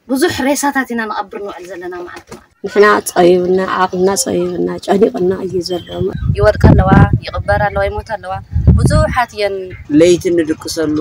ብዙሕ ሬሳታት ኢና ንቐብር ንውዕል ዘለና መዓልቲ መዓልቲ። ንሕና ጸቢቡና፣ ዓቕልና ጸቢቡና፣ ጨኒቕና እዩ ዘሎ። ይወድቃ ኣለዋ፣ ይቕበር ኣለዋ፣ ይሞታ ኣለዋ። ብዙሓት እየን። ለይቲ ንድቅሰሉ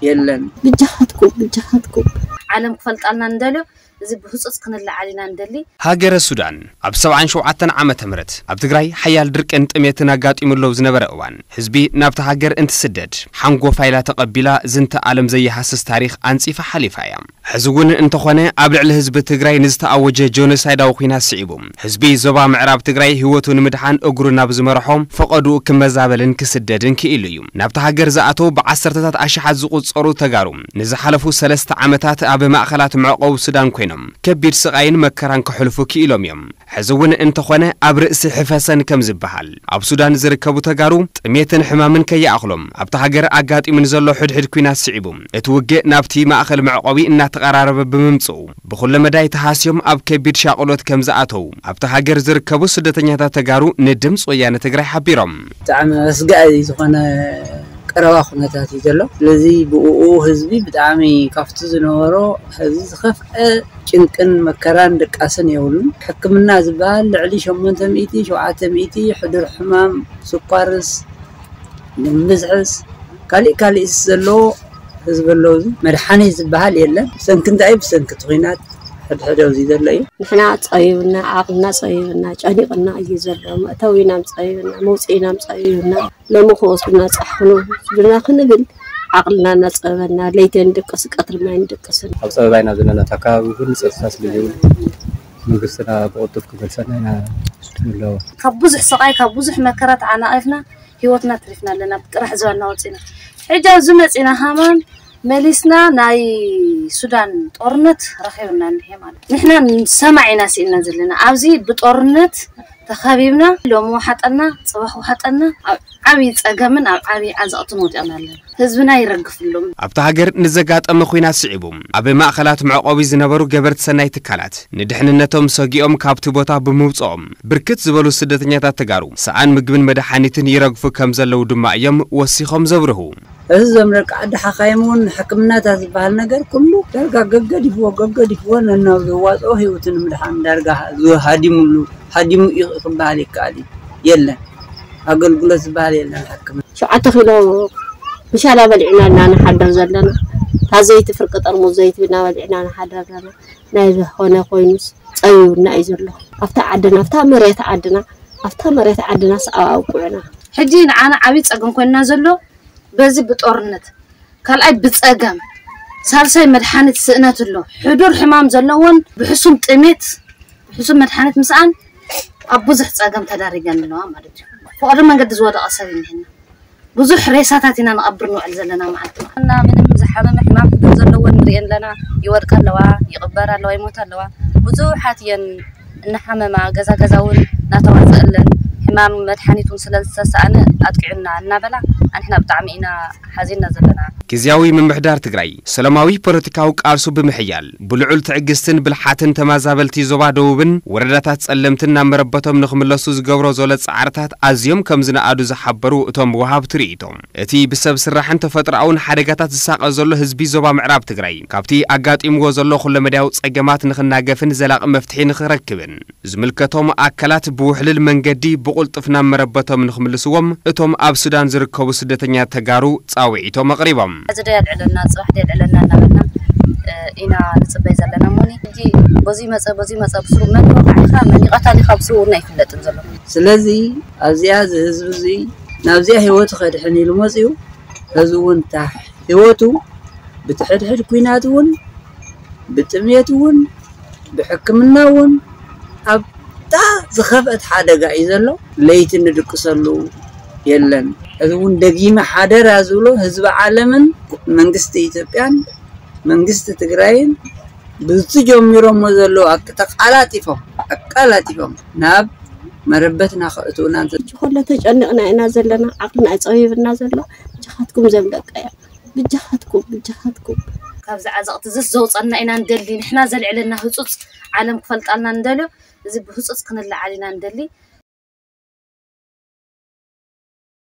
የለን። ብጃኻትኩም ብጃኻትኩም። ዓለም ክፈልጣልና ንደልዮ፣ እዚ ብህጹጽ ክንለዓል ኢና ንደሊ። ሃገረ ሱዳን ኣብ ሰብዓን ሸውዓተን ዓመተ ምህረት ኣብ ትግራይ ሓያል ድርቅን ጥሜትን ኣጋጢሙ ኣለዉ ዝነበረ እዋን ህዝቢ ናብቲ ሃገር እንትስደድ ሓንጎፋ ኢላ ተቐቢላ ዝንተ ዓለም ዘይሃስስ ታሪኽ ኣንጺፋ ሓሊፋ እያ። ሕዚ እውን እንተኾነ ኣብ ልዕሊ ህዝቢ ትግራይ ንዝተኣወጀ ጆኖሳይዳዊ ኲናት ስዒቡ ህዝቢ ዞባ ምዕራብ ትግራይ ህይወቱ ንምድሓን እግሩ ናብ ዝመርሖ ፈቐድኡ ክመዛበልን ክስደድን ክኢሉ እዩ። ናብቲ ሃገር ዝኣተው ብዓሰርተታት ኣሽሓት ዝቑጸሩ ተጋሩ ንዝሓለፉ ሰለስተ ዓመታት ኣብ ማእኸላት መዕቆቢ ሱዳን ኮይኖም ከቢድ ስቓይን መከራን ከሕልፉ ክኢሎም እዮም። ሕዚ እውን እንተኾነ ኣብ ርእሲ ሕፈሰን ከም ዝበሃል ኣብ ሱዳን ዝርከቡ ተጋሩ ጥሜትን ሕማምን ከይኣኽሎም ኣብቲ ሃገር ኣጋጢሙ ንዘሎ ሕድሕድ ኲናት ስዒቡ እቲ ውግእ ናብቲ ማእኸል መዕቆቢ እናተቐራረበ ብምምፅኡ ብኩለ መዳይ ተሃስዮም ኣብ ከቢድ ሻቕሎት ከም ዝኣተው ኣብቲ ሃገር ዝርከቡ ስደተኛታት ተጋሩ ንድምፂ ወያነ ትግራይ ሓቢሮም። ብጣዕሚ ኣስጋኢ ዝኾነ ቀረባ ኩነታት እዩ ዘሎ። ስለዚ ብኡ ህዝቢ ብጣዕሚ ካብቲ ዝነበሮ ሕዚ ዝኸፍአ ጭንቅን መከራን ድቃስን የብሉን። ሕክምና ዝበሃል ልዕሊ ሸሞንተ ሚእቲ ሸውዓተ ሚእቲ ሕዱር ሕማም ስኳርስ ምዝሕስ ካሊእ ካሊእስ ዘለዎ ህዝቢ ኣለዉ። እዚ መድሓኒት ዝበሃል የለን። ብሰንኪ እንታይ? ብሰንኪ እቲ ኹናት ሕድሕድ ኣብዚ ዘሎ እዩ። ንሕና ጸቢቡና፣ ዓቕልና ጸቢቡና፣ ጨኒቕና እዩ ዘሎ። መእተዊናም ጸቢቡና፣ መውፅኢናም ጸቢቡና። ሎሚ ክወስዱና ጻሕኑ ስዱና ክንብል ዓቕልና እናጸበበና ለይቲ ንድቅስ ቀትሪ ማይ ንድቅስን። ኣብ ጸበባ ኢና ዘለና። እቲ ኣካባቢ ኩሉ ጸጥታ ስለ ዘይብሉ መንግስትና ብቕልጡፍ ክመልሰና ኢና ንብሎ። ካብ ብዙሕ ስቓይ ካብ ብዙሕ መከራ ተዓናቒፍና ህይወትና ኣትሪፍና ኣለና። ጥራሕ ዝበልና ወፂና ሕጂ ኣብዚ መፂና ሃማን መሊስና ናይ ሱዳን ጦርነት ረኺብና እንሄ ማለት ንሕና ሰማዕ ኢና ስኢልና ዘለና። ኣብዚ ብጦርነት ተኸቢብና ሎሚ ወሓጠና ፅባሕ ወሓጠና ኣብ ዓብዪ ፀገምን ኣብ ዓብዪ ዓዘቕትን ወዲቕና ኣለና። ህዝብና ይረግፍሎም። ኣብቲ ሃገር ንዘጋጠመ ኹናት ስዒቡ ኣብ ማእኸላት መዕቆቢ ዝነበሩ ገበርቲ ሰናይ ትካላት ንድሕንነቶም ሰጊኦም ካብቲ ቦታ ብምውፅኦም ብርክት ዝበሉ ስደተኛታት ተጋሩ ሰኣን ምግብን መድሓኒትን ይረግፉ ከም ዘለዉ ድማ እዮም ወሲኾም ዘብርሁ። እዚ ዞም ደቂ ዓዲ ሓኻይም እውን ሕክምናታት ዝበሃል ነገር ኩሉ ዳርጋ ገገዲፍዎ ገገዲፍዎ ነናብ ዘዋፅኦ ህይወቱ ንምድሓን ዳርጋ ሃዲሙሉ ሃዲሙ እዩ ክበሃል ይከኣል እዩ። የለን ኣገልግሎት ዝበሃል የለን ሕክምና። ሸውዓተ ኪሎ ምሻላ በሊዕና ኢና ንሓደር ዘለና። እታ ዘይቲ ፍርቂ ጠርሙዝ ዘይቲ እናበሊዕና ንሓደር ዘለና። ናይ ዝኾነ ኮይኑስ ፀቢቡና እዩ ዘሎ። ኣብታ ዓድና ኣብታ መሬት ዓድና ኣብታ መሬት ዓድናስ ኣብኣ ኣብቁዑና። ሕጂ ንዓና ዓብዪ ፀገም ኮይንና ዘሎ በዚ ብጦርነት ካልኣይ ብፀገም ሳልሳይ መድሓኒት ስእነት ኣሎ። ሕዱር ሕማም ዘለዎን ብሕሱም ጥሜት ብሕሱም መድሓኒት ምስኣን ኣብ ብዙሕ ፀገም ተዳሪገን ኣለዋ ማለት እዩ። ፍቕሪ መንገዲ ዝወደቐ ሰብ እኒሀና። ብዙሕ ሬሳታት ኢና ንቐብር ንውዕል ዘለና መዓልቲ መዓልቲ። እና ምንም ዝሓመመ ሕማም ሕዱር ዘለወን ንሪኤን ኣለና። ይወድቃ ኣለዋ፣ ይቕበር ኣለዋ፣ ይሞታ ኣለዋ። ብዙሓት እየን እናሓመማ ገዛ ገዛ እውን እናተዋፀአለን ሕማም መድሓኒት እውን ስለ ዝተሰኣነ ኣጥቂዑና እናበላ ኣንሕና ብጣዕሚ ኢና ሓዚንና ዘለና። ግዝያዊ ምምሕዳር ትግራይ ሰላማዊ ፖለቲካዊ ቃልሱ ብምሕያል ብልዑል ትዕግስትን ብልሓትን ተመዛበልቲ ዞባ ደቡብን ወረዳታት ጸለምትን ናብ መረበቶም ንኽምለሱ ዝገብሮ ዘሎ ጻዕርታት ኣዝዮም ከም ዝነኣዱ ዝሓበሩ እቶም ወሃብቲ ርእይቶ፣ እቲ ብሰብ ስራሕን ተፈጥሮኣውን ሓደጋታት ዝሳቐ ዘሎ ህዝቢ ዞባ ምዕራብ ትግራይ ካብቲ ኣጋጢምዎ ዘሎ ኩለመዳያዊ ጸገማት ንኽናገፍን ዘላቒ መፍትሒ ንኽረክብን ዝምልከቶም ኣካላት ብውሕልል መንገዲ ብቕልጡፍ ናብ መረበቶም ንኽምልስዎም እቶም ኣብ ሱዳን ዝርከቡ ስደተኛ ተጋሩ ጻውዒቶም ኣቕሪቦም። ሕዚ ዶ የልዕለና ጽባሕ ዶ የልዕለና እናበልና ኢና ንጽበይ ዘለና እሞኒ ሕጂ በዚ መጸ በዚ መጸ ብስሩ መን ይወቕዓ ኢኻ መን ይቐታል ኢኻ ብስሩ እውን ኣይፍለጥን ዘሎ። ስለዚ ኣብዚኣ እዚ ህዝቢ እዚ ናብዚኣ ህይወቱ ከድሕን ኢሉ መጺኡ ሕዚ እውን እታ ህይወቱ ብትሕድሕድ ኲናት እውን ብጥሜት እውን ብሕክምና እውን ኣብታ ዝኸፍአት ሓደጋ እዩ ዘሎ። ለይቲ ንድቅሰሉ የለን። እዚ እውን ደጊመ ሓደራ ዝብሎ ህዝቢ ዓለምን መንግስቲ ኢትዮጵያን መንግስቲ ትግራይን ብዝትጀሚሮሞ ዘለዉ ኣክ- ተቃላጢፎም ኣቃላጢፎም ናብ መረበትና ከእትውና እንተ- ሕጂ ከሎ ተጨኒቕና ኢና ዘለና፣ ዓቕልና እዩ ፀቢብና ዘሎ። ብጃኻትኩም ዘም ደቀያ፣ ብጃኻትኩም፣ ብጃኻትኩም። ካብዚ ዓዘቕቲ እዝስ ዘውፀና ኢና ንደሊ፣ ንሕና ዘልዕለና ህፁፅ ዓለም ክፈልጣልና ንደልዮ፣ እዚ ብህፁፅ ክንለዓል ኢና ንደሊ።